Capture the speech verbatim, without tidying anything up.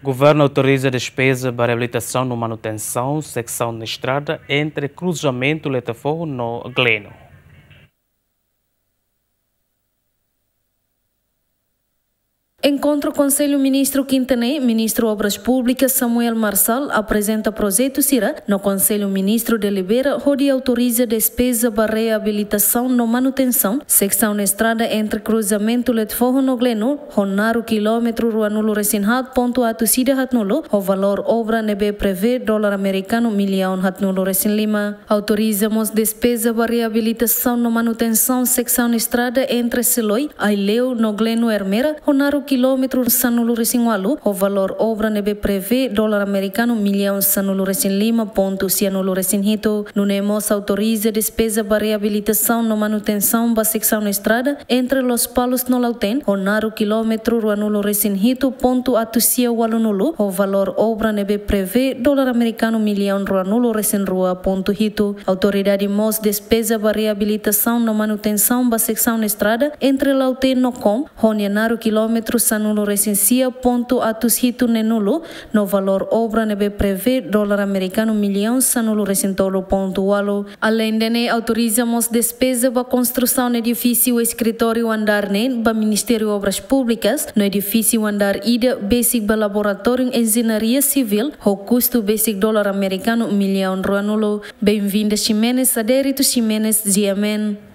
Governu autoriza despeza ba reabilitasaun no manutensaun seksaun estrada entre kruzamentu Letefoho no Gleno. Enkontru Konsellu Ministru kinta ne'e, Ministru Obras Públikas Samuel Marçal aprezenta projetu sira no Konsellu Ministru delibera hodi autoriza despeza ba reabilitasaun no manutensaun seksaun estrada entre kruzamentu Letefoho no Gleno, ho naruk kilómetru ruanulu resin haat pontu atus ida haatnulu, ho valór obra ne'ebé prevee dolar amerikanu millaun haatnulu resin lima. Autoriza mós despeza ba reabilitasaun no manutensaun seksaun estrada entre Seloi, Aileu no Gleno Ermera, ho naruk kilómetru sanulu resin ualu, ho valór obra ne'ebé prevee dolar amerikanu millaun sanulu resin lima pontu sianulu resin hitu. Nune'e mós autoriza despeza ba reabilitasaun no manutensaun ba seksaun estrada entre Lospalos no Lautém, ho naruk kilómetru ruanulu resin hitu pontu atus sia ualunulu, ho valór obra ne'ebé prevee dolar amerikanu millaun ruanulu resin rua pontu hitu. Autoridade mós despeza ba reabilitasaun no manutensaun ba seksaun estrada entre Lautém no Kom, ho nia naruk kilómetru sanulu resin sia pontu atus hitu neenulu, no valór obra ne'ebé prevee dolar amerikanu millaun sanulu resin tolu pontu ualu. Aleinde ne'e, autoriza mós despeza ba konstrusaun edifísiu eskritóriu andár neen ba Ministériu Obras Públikas, no edifísiu andár ida besik ba Laboratóriu Enjeñaria Sivíl, ho kustu besik dolar amerikanu millaun ruanulu. Benvinda Ximenes, Adérito Ximenes, G M N.